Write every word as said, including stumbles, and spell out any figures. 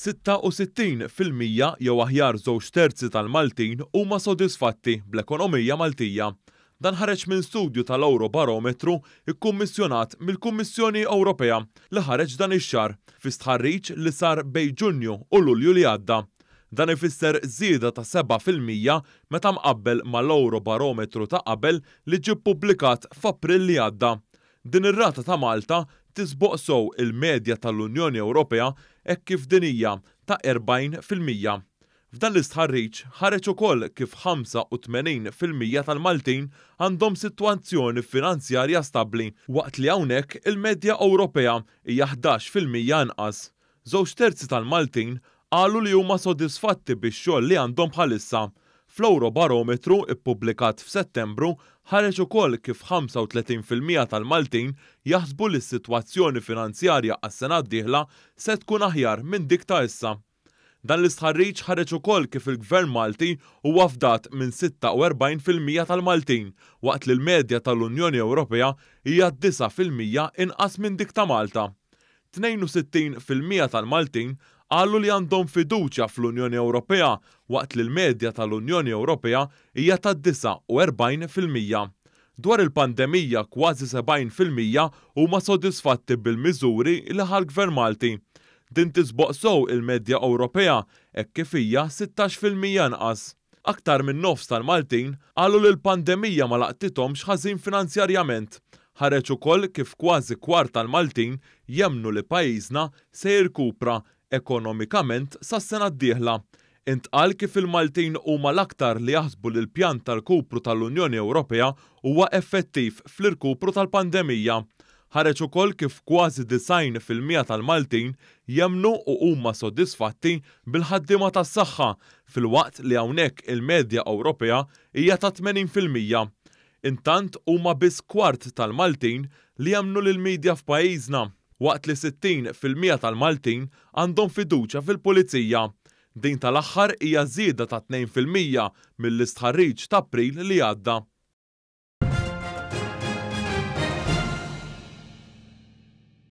Sitta u sittin fil-mija jew aħjar żewġ terzi tal-Maltin huma sodisfatti bl-ekonomija Maltija. Dan ħareġ minn studju tal-Eurobarometru ikkummissjonat mill-Kummissjoni Ewropea li ħareġ dan ix-xahar fi stħarriġ li sar bejn Ġunju u Lulju li għadda. Dan ifisser żieda ta' seba' fil-mija meta mqabbel mal-Eurobarometru ta' qabel li ġie ppubblikat f'April li għadda. Din ir-rata ta' Malta tisboq sew il-medja tal-Unjoni Ewropea hekk kif din hija ta' erbgħin fil-mija. F'dan l-istħarriġ ħareġ ukoll kif ħamsa u tmenin fil-mija tal-Maltin għandhom sitwazzjoni finanzjarja stabbli, waqt li hawnhekk il-medja Ewropea hija ħdax fil-mija inqas. Żewġ terzi tal-Maltin qalu li huma sodisfatti bix-xogħol li għandhom bħalissa. Fl-Eurobarometru ippubblikat f'Settembru ħareġ ukoll kif ħamsa u tletin fil-mija tal-Maltin jaħsbu li s-sitwazzjoni finanzjarja għas-sena d-dieħla se tkun aħjar minn dik ta' issa. Dan l-istħarriġ ħareġ ukoll kif il-Gvern Malti huwa fdat minn sitta u erbgħin fil-mija tal-Maltin, waqt li l-medja tal-Unjoni Ewropea hija disa' fil-mija inqas minn dik ta' Malta. Tnejn u sittin fil-mija tal-Maltin qalu li għandhom fiduċja fl-Unjoni Ewropea, waqt li l-medja tal-Unjoni Ewropea hija ta' disa' u erbgħin fil-mija. Dwar il-pandemija, kważi sebgħin fil-mija huma sodisfatti bil-miżuri li ħa l-Gvern Malti. Din tisboq sew il-medja Ewropea hekk kif hija sittax fil-mija inqas. Aktar minn nofs tal-Maltin qalu li l-pandemija ma laqtithomx ħażin finanzjarjament. Ħareġ ukoll kif kważi kwart tal-Maltin jemmnu li pajjiżna se jirkupra ekonomikament sas-sena d-dieħla. Intqal kif il-Maltin huma l-aktar li jaħsbu li l-pjan tal-kupru tal-Unjoni Ewropea huwa effettiv fl-irkupru tal-pandemija. Ħareġ ukoll kif kważi disgħin fil-mija tal-Maltin jemmnu u huma sodisfatti bil-ħaddiema tas-saħħa, filwaqt li hawnhekk il-medja Ewropea hija ta' tmenin fil-mija. Intant huma biss kwart tal-Maltin li jemmnu lill-medja f'pajjiżna, waqt li sittin fil-mija tal-Maltin għandhom fiduċja fil-pulizija. Din tal-aħħar hija żieda ta' tnejn fil-mija mill-istħarriġ ta' April li għadda.